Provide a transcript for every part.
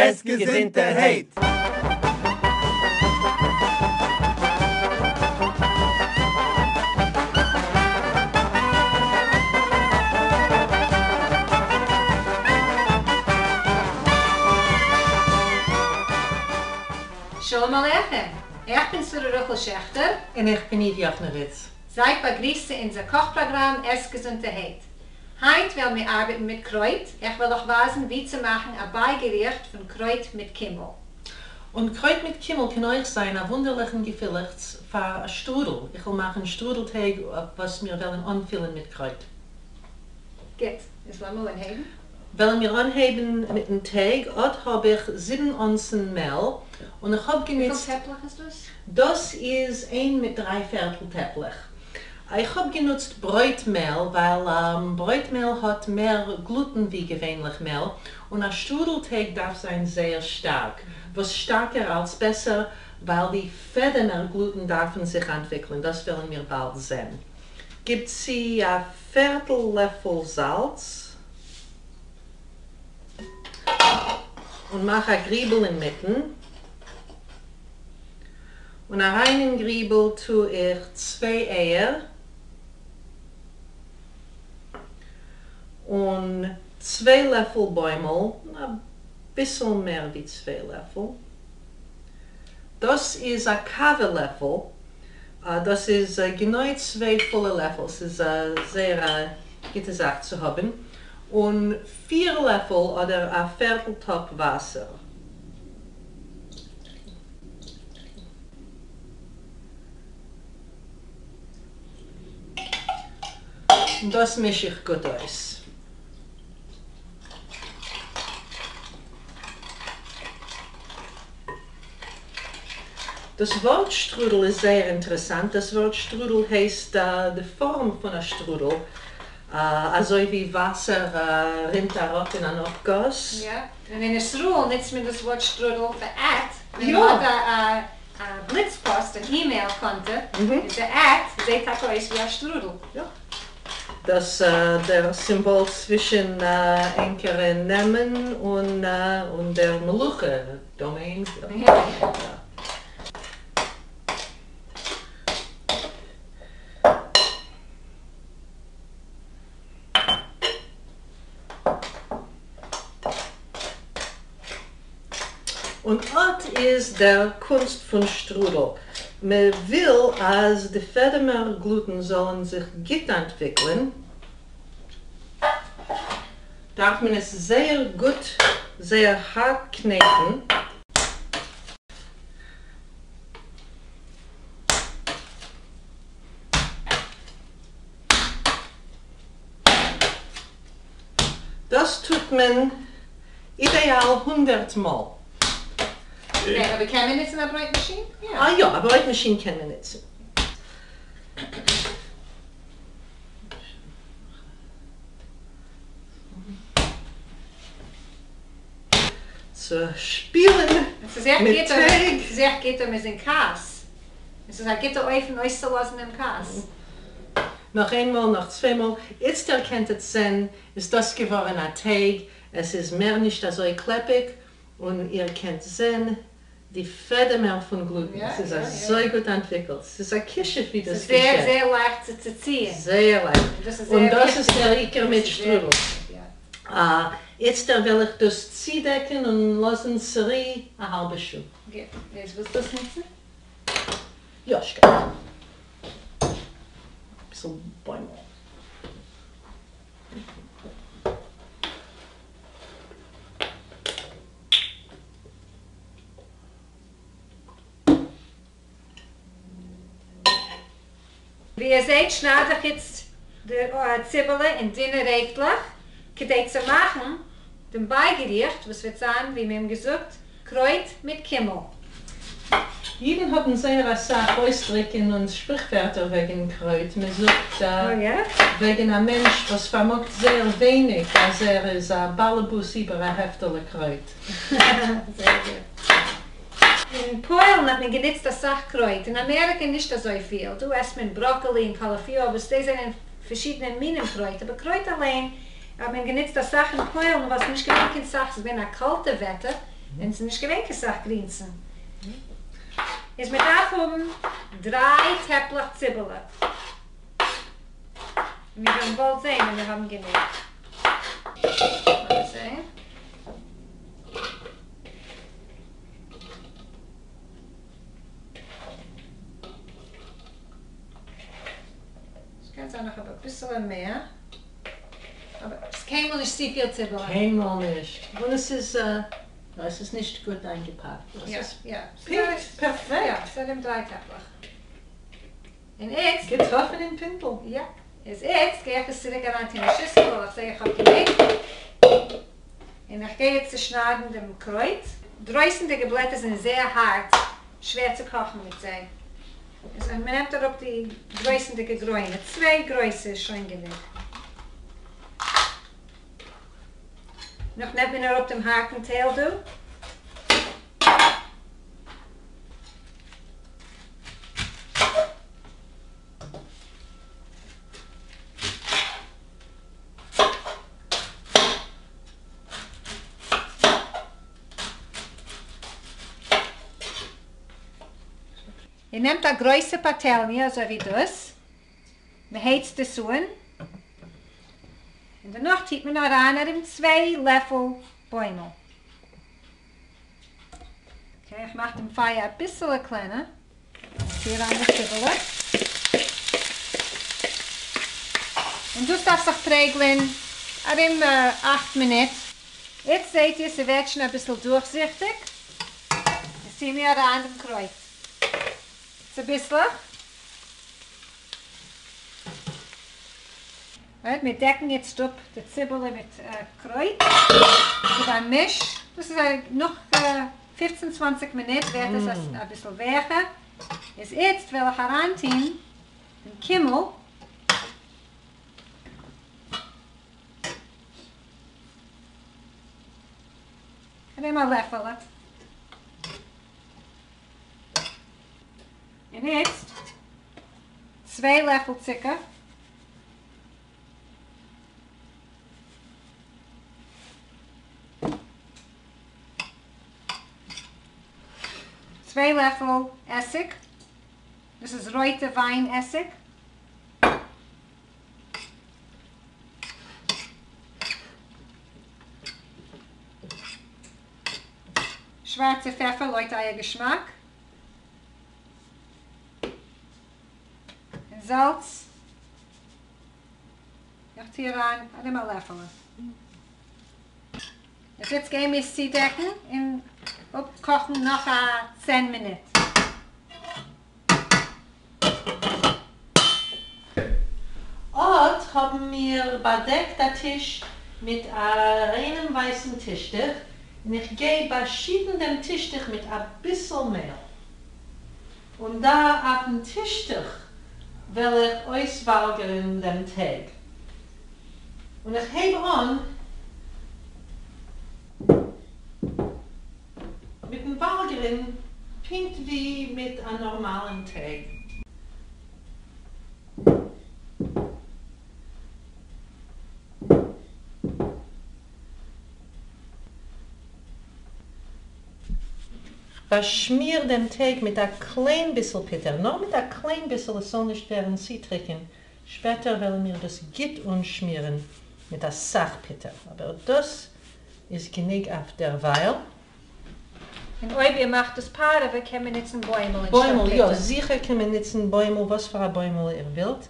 עס געזונטערהייט! שלום עליכם! איך בין שרה רחל שעכטער. און איך בין איוו יאכנאוויץ. זייט באגריסט צו אונזער קאך פראגראם עס געזונטערהייט. היינט וועלן מיר ארבעטן מיט קרויט, איך וועל אייך ווייזן ווי צו מאכן א בייגעריכט פון קרויט מיט קימל. און קרויט מיט קימל קען אויך זיין א וואונדערליכן געפילעכץ פאר א שטרודל, איך וועל מאכן שטרודל טייג וואס מיר וועלן אנפילן מיט קרויט. גוט, איז לאמיר אנהייבן. וועלן מיר אנהייבן מיטן טייג, אט האב איך זיבן אונסן מעל, און איך האב גענוצט. וויפיל טעפלעך איז דאס? דאס איז איין מיט דריי פערטל טעפלעך. איך האב גענוצט ברויט מעל ווייל ברויט מעל האט מער גלוטן ווי געווענליך מעל, און א שטרודל טייג דארף זיין זייער שטארק, וואס שטארקער אלס בעסער ווייל די פעדעמער גלוטן דארפן זיך אנטוויקלען, דאס וועלן מיר באלד זען. גיב צו א פערטל לעפל זאלץ און מאך א גריבל אינמיטן. און אריין אין גריבל טו איך צוויי אייער און צוויי לעפל בוימל, אביסל מער ווי צוויי לעפל, דאס איז א קאווע לעפל, דאס איז גענוי צוויי פולע לעפל, ס'איז זייער א גוטע זאך צו האבן, און פיר לעפל אדער א פערטל טאפ וואסער. און דאס מיש איך גוט אויס. דאס ווארט שטרודל איז זייער אינטערעסאנט. דאס ווארט שטרודל הייסט די פארעם פון א שטרודל, אזוי ווי וואסער רינט אראפ אין אן אפגאס. יא, און אין ישראל נוצט מען דאס ווארט שטרודל פאר at, ווען מען האט א בליץ פאסט, אן אימעיל קאנטע, איז די at זעהט טאקע אויס ווי א שטרודל. יא. דאס דער סימבאל צווישן ענקערע נעמען און דער מלוכה דאמעין. און אט איז דער קונסט פון שטרודל, מען וויל אז די פעדעמער גלוטן זאלן זיך גוט אנטוויקלען, דארף מען עס זייער גוט זייער הארט קנעטן, דאס טוט מען אידעאל הונדערט מאל. אקעי, אבער קען מען נוצן א ברויט מאשין? יא. אה יא, א ברויט מאשין קען מען נוצן. צו שפילן מיט טייג. ס'איז עכט גוט אויב מ'איז אין כעס. עס איז א גוטע אופן אויסצולאזן דעם כעס. נאך איין מאל, נאך צוויי מאל, איצטער קענט עטס זען איז דאס געווארן א טייג, עס איז מער נישט אזוי קלעפיג, און איר קענט זען די פעדעמער פון גלוטן, עס איז אזוי גוט אנטוויקלט, עס איז א כישוף ווי דאס געשעט. ס'איז זייער זייער לייכט צו צוציען. זייער לייכט, און דאס איז דער עיקר מיט שטרודל. איצטער וועל איך דאס צודעקן און לאזן צורו א האלבע שעה. גוט, איז ווילסט דאס נוצן? יא, שכוח. אביסל בוימל. ווי איר זעהט שנייד איך איצט די ציבעלע אין דינע רעפטלעך כדי צו מאכן דעם בייגעריכט וואס וועט זיין ווי מיר האבן געזאגט קרויט מיט קימל. אידן האבן זייער אסאך אויסדריקן און שפריכווערטער וועגן קרויט, מען זאגט וועגן א מענטש וואס פארמאגט זייער ווייניג אז ער איז א באלעבאס איבער א העפטעלע קרויט. זייער גוט. אין פוילן האט מען גענוצט אסאך קרויט, אין אמעריקע נישט אזויפיל, דא עסט מען בראקעלי און קאליפיאר וואס דאס זענען פארשידענע מינים קרויט, אבער קרויט אליין האט מען גענוצט אסאך אין פוילן ווייל ס'איז נישט געווען קיין סאך, ס'איז געווען א קאלטע וועטער. און ס'איז נישט געווען קיין סך גרינסן. איז מען דארף האבן דריי טעפלעך ציבעלע. מיר וועלן באלד זען ווען מיר האבן גענוג. לאמיר זען. ס'קען זיין איך האב אביסעלע מער. אבער ס'איז קיינמאל נישט צופיל ציבעלע. קיינמאל נישט. און עס איז יא עס איז נישט גוט איינגעפאקט. עס איז פונקט פערפעקט. יא, ס'איז ארום דריי טעפלעך. און איצט. געטראפן אין פינטל. יא. איז איצט גיי איך עס צוריק אריין טון אין שיסל ווייל איך זעה איך האב גענוג. און איך גיי יעצט צושניידן דעם קרויט. דרויסנדיגע בלעטער זענען זייער הארט, שווער צו קאכן מיט זיי. איז מען נעמט אראפ די דרויסנדיגע גרוינע, צוויי גרויסע איז שוין גענוג. נאך נעמט מען אראפ דעם הארטן טייל דא. איר נעמט א גרויסע פאטעלניע אזוי ווי דאס, מען הייצט עס אן, און דערנאך טוט מען אריין ארום צוויי לעפל בוימל. Okay, איך מאך דעם פייער אביסעלע קלענער. טו אריין די ציבעלע. און דאס דארף זיך פרעגלען ארום אכט מינוט. איצט זעהט איר ס'ווערט שוין אביסל דורכזיכטיג. איז טוה מיר אריין דעם קרויט צוביסלעך. Right, מיר דעקן איצט אפ די ציבעלע מיט קרויט. גיב א מיש. דאס איז נאך פופצן צוואנציג מינוט ווערט עס אביסל וועכער. איז איצט וועל איך אריינטוהן דעם קימל. כ'נעם א לעפעלע. און איצט צוויי לעפל צוקער. צוויי לעפל עסיג, דאס איז רויטע וויין עסיג. שווארצע פעפער לויט אייער געשמאק. און זאלץ. איך טוה אריין ארום א לעפעלע. איז יעצט גייען מיר עס צודעקן און אפקאכן נאך א צען מינוט. אט האבן מיר באדעקט א טיש מיט א ריינעם ווייסן טישטוך, און איך גיי באשיטן דעם טישטוך מיט אביסל מעל. און דא אויפן טישטוך וועל איך אויסוואלגערן דעם טייג. און איך הייב אן מיטן וואלגערן פונקט ווי מיט א נארמאלן טייג. כ'באשמיר דעם טייג מיט א קליין ביסל פוטער, נאר מיט א קליין ביסל עס זאל נישט ווערן צו טריקען, שפעטער וועלן מיר דאס גוט אנשמירן מיט אסאך פוטער, אבער דאס איז גענוג אויף דערווייל. און אויב איר מאכט דאס פארעווע קען מען נוצן בוימל אנשטאט בוימל, יא פוטער. זיכער קען מען נוצן בוימל, וואס פאר א בוימל איר ווילט.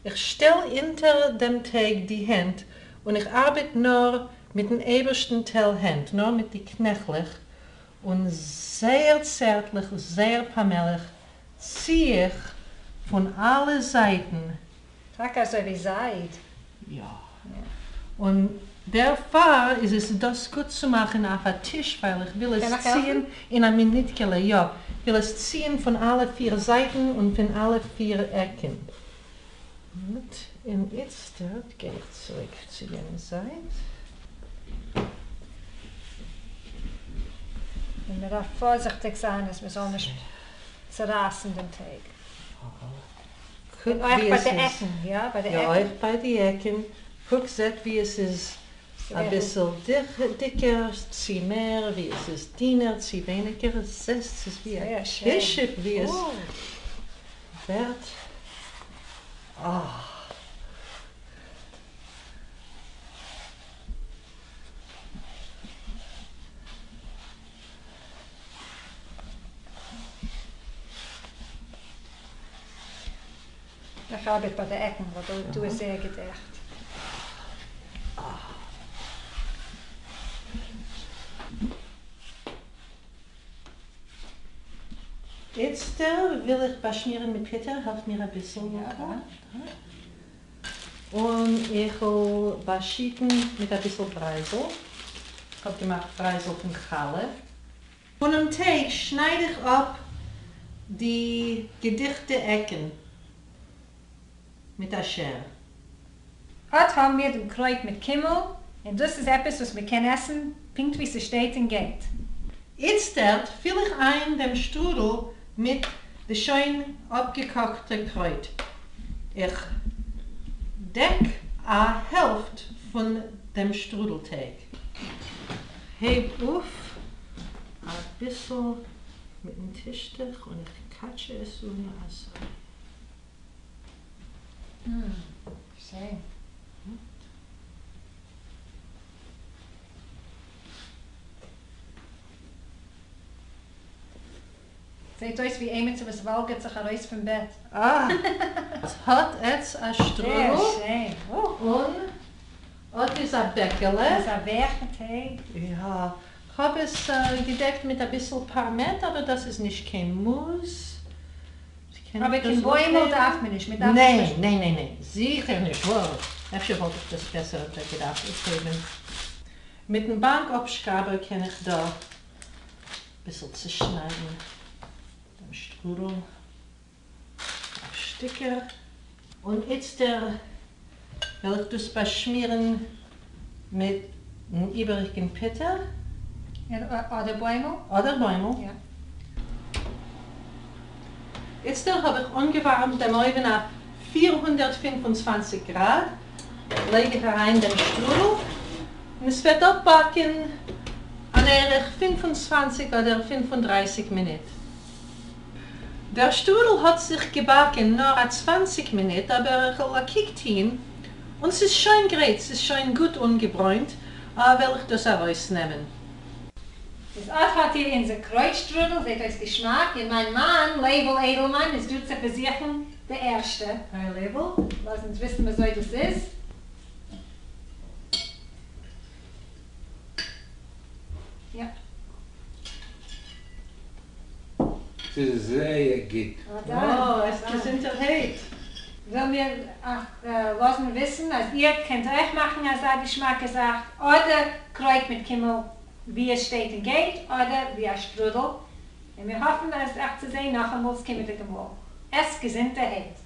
איך שטעל אונטער דעם טייג די הענט און איך ארבעט נאר מיטן אייבערשטן טייל הענט, נאר מיט די קנעכלעך, און זייער צערטליך, זייער פאמעליך צי איך פון אלע זייטן. טאקע אזוי ווי זייד. יא. און דערפאר איז עס דאס גוט צו מאכן אויף א טיש ווייל איך וויל קען עס איך העלפן? ציען אין א מינוטקעלע, יא, וויל עס ציען פון אלע פיר זייטן און פון אלע פיר עקן. גוט, און איצטערט גיי איך צוריק צו יענע זייט. און מען דארף פארזיכטיג זיין אז מען זאל נישט צורייסן דעם טייג. קוק און אויך ווי ביי עס די איז. עקן, יא? ביי די יא עקן. אויך ביי די עקן. קוק זעט ווי עס איז אביסל דיקער צי מער, ווי עס איז דינער צי ווייניגער, זעסט ס'איז ווי א כישוף ווי עס ווערט, אה. איך ארבעט ביי די עקן ווייל דא איז זייער געדעכט. איצטער וויל איך באשמירן מיט פוטער, העלף מיר אביסל לוקא. און איך וויל באשיטן מיט אביסל ברייזל, איך האב געמאכט ברייזל פון חלה. פונעם טייג שנייד איך אפ די געדיכטע עקן מיט א שער. אט האבן מיר דעם קרויט מיט קימל, און דאס איז עפעס וואס מען קען עסן פונקט ווי ס'שטייט און גייט. איצטערט פיל איך איין דעם שטרודל מיט די שוין אפגעקאכטע קרויט. איך דעק א העלפט פון דעם שטרודל טייג. הייב אויף אביסל מיטן טישטוך און איך קאטשע עס אן אזוי. שיין. זעהט אויס ווי עימיצער וואס וואלגערט זיך ארויס פון בעט. אה! האט עטץ א שטרודל. זייער שיין. און אט איז א בעקעלע. איז א ווייכע טייג. יא, כ'האב עס געדעקט מיט אביסל פארמעט אבער דאס איז נישט קיין מוז. אבער קיין בוימל דארף מען נישט, מ'דארף נישט. ניין ניין ניין ניין, זיכער נישט, וואו, אפשר וואלט איך דאס בעסער געדארפט אויפהייבן. מיטן באנק אפשקראבער קען איך דא אביסל צושניידן דעם שטרודל אויף שטיקער. און איצטער וועל איך דאס באשמירן מיטן איבעריגן פוטער. אדער בוימל. אדער בוימל. יא. איצטער האב איך אנגעווארעמט דעם אויווען אויף 425 גראד, לייג איך אריין דעם שטרודל און עס וועט אפבאקן אן ערך 25 אדער 35 מינוט. דער שטרודל האט זיך געבאקן נאר א 20 מינוט, אבער איך וועל א קוק טוהן און ס'איז שוין גרייט, ס'איז שוין גוט אנגעברוינט, וועל איך דאס ארויסנעמען. איז אט האט איר אונזער קרויט שטרודל, זעט אויס געשמאק, און מיין מאן לייבל איידלמאן איז דא צו פארזוכן די ערשטע. היי לייבל, לאז אונז וויסן וויאזוי דאס איז. יא. ס'איז זייער גוט. אה, עס געזונטערהייט. וויל מיר אייך לאזן וויסן אז איר קענט אויך מאכן אזא געשמאקע זאך, אדער קרויט מיט קימל ווי עס שטייט און גייט, אדער ווי א שטרודל, און מיר האפן אז אייך צו זען נאכאמאל ס'קומענדיגע מאל. עסט געזונטערהייט.